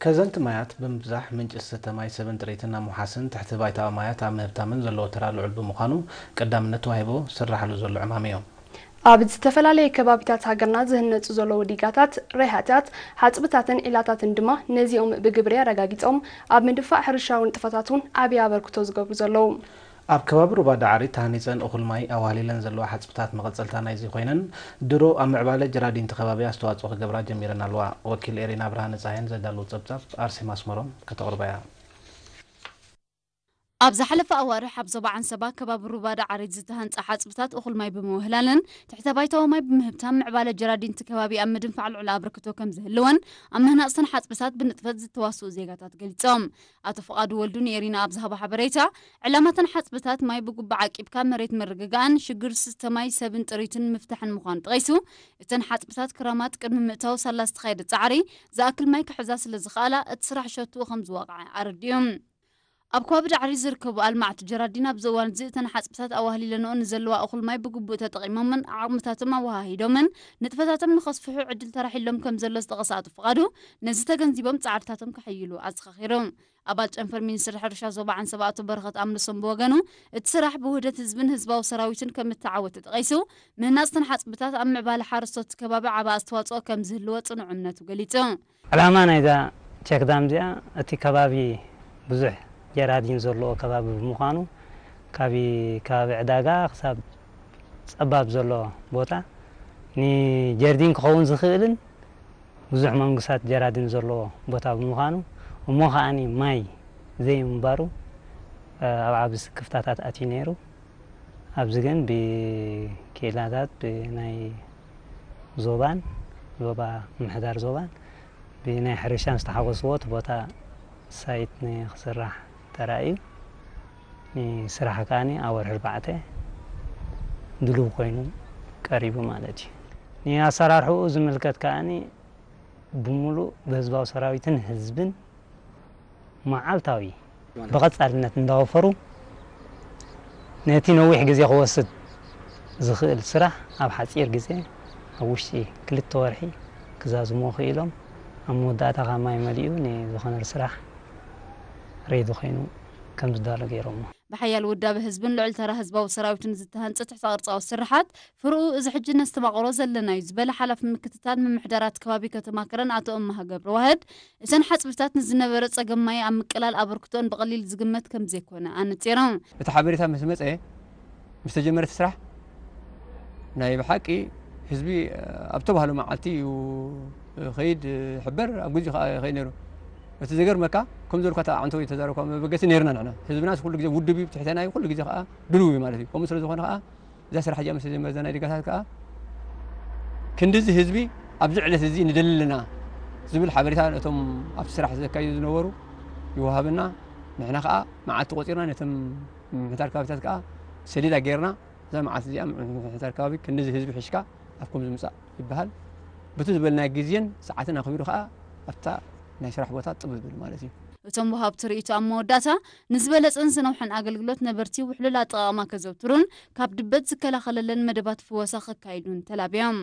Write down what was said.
ከዘንቲ ማያት ብምብዛሕ ምንጪ ዝስተ ማይ ሰብን ጥሪትን ኣብ ምውሓስን ትሕቲ ባይታዊ ማያት ኣብ ምህብታምን ዘለዎ ተራ ልዑል ብምዃኑ ቀዳምነት ተዋሂቦ ዝስራሓሉ ዘሎ ዕማም እዩ። ኣብ ዝተፈላለየ ከባቢታት ሃገርና ዝህነፁ ዘለዉ ዲጋታት፣ ሬሃታት፣ ሓፅብታትን ዒላታትን ድማ ነዚኦም ብግብሪ ኣረጋጊፆም ኣብ ምድፋእ ሕርሻዊ ንጥፈታት እውን ዓብዪ ኣበርክቶ ዝገብሩ ዘለዉ። ኣብ ከባቢ ሩባ ዳዕሪ ተሃኒፀን እኹል ማይ ኣዋህሊለን ዘለዋ ሓፅብታት መቐፀልታ ናይዚ ኮይነን ድሮ ኣብ ምዕባለ ጀራዲንቲ ከባቢ ኣስተዋፅኦ ክገብራ ጀሚረን ኣለዋ። ወኪል ኤሪና ብርሃነ ፀሃየን ዘዳለዉ ፀብፃብ ኣርሴማ ኣስመሮም ከተቕርባ እያ። ኣብ ዝሓለፈ ኣዋርሕ ኣብ ዞባ ዓንሰባ ከባቢ ሩባ ዳዕሪት ዝተሃንፀ ሓፅብታት እኹል ማይ ብምውህላለን ትሕተ ባይታዊ ማይ ብምህብታም ምዕባለ ጀራዲንቲ ከባቢ ኣብ ምድንፋዕ ልዑል ኣበርክቶ ከም ዝህልወን ኣብ ምህናፅተን ሓፅብታት ብንጥፈት ዝተዋስኡ ዜጋታት ገሊፆም። ኣቶ ፍቓዱ ወልዱ ንኤሪና ኣብ ዝሃቦ ሓበሬታ ዕላማተን ሓፅብታት ማይ ብጉባዕ ዓቂብካ መሬት ምርግጋእን ሽግር ዝስተ ማይ ሰብን ጥሪትን ምፍታሕን ምዃኑ ጠቒሱ እተን ሓፅብታት ክረማት ቅድሚ ምእታው ሳላ ዝተኻየደ ፃዕሪ ዝኣክል ማይ ክሕዛ ስለ ዝኸኣላ እቲ ስራሕ ሸትኡ ከም ዝወቕዐ ኣረዲኡ። ኣብ ከባቢ ዳዕሪ ዝርከቡ ኣልማዕቲ ጀራዲን ኣብዚ እዋን እዚ እተን ሓፅብታት ኣዋህሊለንኦ ንዘለዋ እኹል ማይ ብግቡእ ተጠቒሞምን ዓቕምታቶም ኣወሃሂዶምን ንጥፈታቶም ንኸስፍሑ ዕድል ተራሒሎም ከም ዘሎ ዝጠቐሰ ኣቶ ፍቓዱ ነዚ ተገንዚቦም ፃዕርታቶም ከሐይሉ ኣዘኻኺሩ። ኣባል ጨንፈር ሚኒስትሪ ሕርሻ ዞባ ዓንሰባ ኣቶ በረኸት ኣምልሶም ብወገኑ እቲ ስራሕ ብውህደት ህዝብን ህዝባዊ ሰራዊትን ከም እተዓወተ ጠቒሱ ምህናፅተን ሓፅብታት ኣብ ምዕባለ ሓረስቶት ከባቢ ዓቢ ኣስተዋፅኦ ከም ዝህልዎ ፅኑዕ እምነቱ ገሊፁ። ዕላማ ናይዛ ቸክዳም እዚኣ እቲ ከባቢ ብዙሕ ጀራዲን ዘለዎ ከባቢ ብምዃኑ ካብ ከባቢ ዕዳጋ ክሳብ ፀባብ ዘሎ ቦታ ንጀርዲን ክኸውን ዝኽእልን ብዙሕ መንጉሳት ጀራዲን ዘለዎ ቦታ ብምዃኑ እሞ ከዓኒ ማይ ዘይምንባሩ ኣብ ዓቢ ስክፍታታት ኣትዩ ነይሩ። ኣብዚ ግን ብክኢላታት ብናይ ዞባን ዞባ ምምሕዳር ዞባን ብናይ ሕርሻን ዝተሓጎስዎ እቲ ቦታ ሳይት ንክስራሕ ተራእዩ ንስራሕ ከዓኒ ኣብ ወርሒ ኣርባዕተ ድሉው ኮይኑ ቀሪቡ ማለት እዩ። ንኣሰራርሕኡ ዝምልከት ከዓኒ ብምሉእ ብህዝባዊ ሰራዊትን ህዝብን መዓልታዊ ብቐጻልነት እንዳወፈሩ ነቲ ነዊሕ ግዜ ክወስድ ዝኽእል ስራሕ ኣብ ሓጺር ግዜ ኣብ ውሽጢ ክልተ ወርሒ ክዛዝሞ ክኢሎም ኣብ መወዳእታ ካብ ማይ መሊኡ ንዝኾነ ስራሕ ሬዲ ኮይኑ ከም ዝዳሎ ገይሮሞ። ብሓያል ውዳበ ህዝብን ልዑል ተራ ህዝባዊ ሰራዊትን ዝተሃንጸ ትሕተ ቅርጻዊ ስርሓት ፍርኡ እዚ ሕጂ ነስተማቕሮ ዘለናዩ ዝበለ ሓላፊ ምክትታል ምምሕዳራት ከባቢ ከተማ ከረን ኣቶ እማሃ ገብረዋህድ እተን ሓፅብታት ንዝነበረ ፀገም ማይ ኣብ ምቅላል ኣበርክቶን ብቐሊል ዝግመት ከም ዘይኮነ ኣነፂሮም። እቲ ሓበሬታ ምስ መፀ ምስ ተጀመረ እቲ ስራሕ ናይ ብሓቂ ህዝቢ ኣብ ተባህሎ መዓልቲ እዩ ኸይድ ሕበር ኣብ ግዜኡ ከዓ ይኸይድ ነይሩ። እቲ ዘገርመካ ከም ዘልኳ ኣዕንቶ ተዛረብካ መበገሲ ነይርና ንሕና ህዝብና ኩሉ ግዜ ውድብ እዩ ትሕተና እዩ ኩሉ ግዜ ከዓ ድልው እዩ ማለት እዩ። ከምኡ ስለ ዝኾነ ከዓ እዛ ስራሕ እዚኣ ምስ ተጀመረ እዛ ናይ ዲጋታት ከዓ ክንድዚ ህዝቢ ኣብዚ ዕለት እዚ ንደሊ ኣለና ዝብል ሓበሬታ ነቶም ኣብቲ ስራሕ ዘካይዱ ዝነበሩ ይወሃበና። ንሕና ከዓ መዓልቲ ቆፂርና ነቶም ምምሕዳር ከባቢታት ከዓ ሰሌዳ ገይርና እዛ መዓልቲ እዚኣ ምምሕዳር ከባቢ ክንድዚ ህዝቢ ሒዝካ ኣብ ከምዚ ምፃእ ይበሃል። በቲ ዝበልናዮ ግዜን ሰዓትን ኣኽቢሩ ከዓ ኣብታ ናይ ስራሕ ቦታ ጥብ ይብል ማለት እዩ። እቶም ወሃብቲ ርእይቶ ኣብ መወዳእታ ንዝበለፀን ዝነውሐን ኣገልግሎት ነበርቲ ውሕሉል ኣጠቓቕማ ከዘውትሩን ካብ ድበት ዝከላኸለለን መደባት ፍወሳ ከካይዱን ተላብዮም።